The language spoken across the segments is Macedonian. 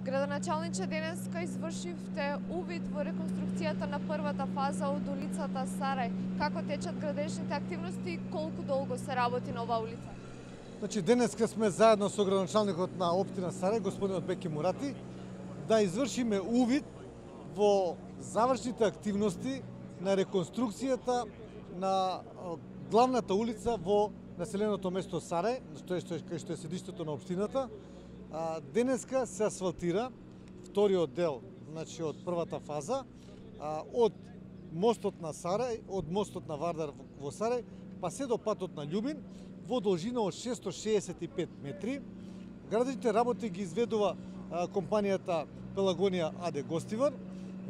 Градоначалниче, денеска извршивте увид во реконструкцијата на првата фаза од улицата Сарај. Како течат градежните активности и колку долго се работи на оваа улица? Значи, денеска сме заедно со градоначалникот на општина Сарај, господинот Беки Мурати, да извршиме увид во завршните активности на реконструкцијата на главната улица во населеното место Сарај, кај што е седиштето на општината. Денеска се асфалтира вториот дел, значи од првата фаза, од мостот на Сарај, од мостот на Вардар во Сарај, па се до патот на Љубин, во должина од 665 метри. Градежните работи ги изведува компанијата Пелагонија АД Гостивар.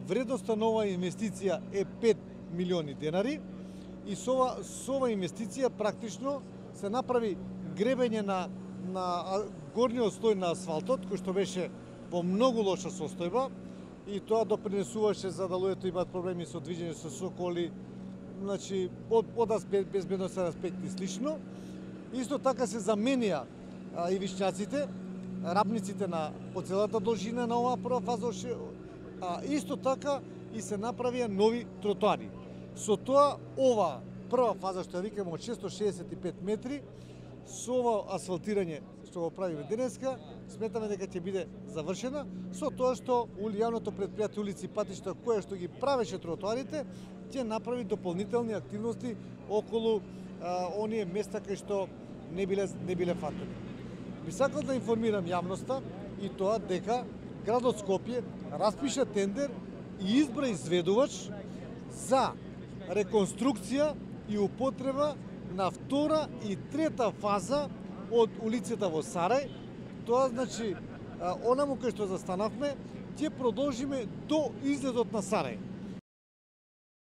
Вредноста на оваа инвестиција е 5 милиони денари и со оваа инвестиција практично се направи гребење на горниот слој на асфалтот, кој што беше во многу лоша состојба и тоа допринесуваше за да луѓето имаат проблеми со движење со соколи, значи од безбедносен аспект и слично. Исто така се заменија ивичњаците, рабниците по целата должина на оваа прва фаза, исто така и се направија нови тротоари. Со тоа ова прва фаза што ја викаме од 665 метри, со ова асфалтирање што го правиме денеска, сметаме дека ќе биде завршена, со тоа што јавното претпријатие улици и патишта кое што ги правеше тротоарите, ќе направи дополнителни активности околу оние места кај што не биле фатени. Би сакал да информирам јавноста и тоа дека градот Скопје распиша тендер и избра изведувач за реконструкција и употреба на втора и трета фаза од улицата во Сарај. Тоа значи, онаму кај што застанавме, ќе продолжиме до излезот на Сарај.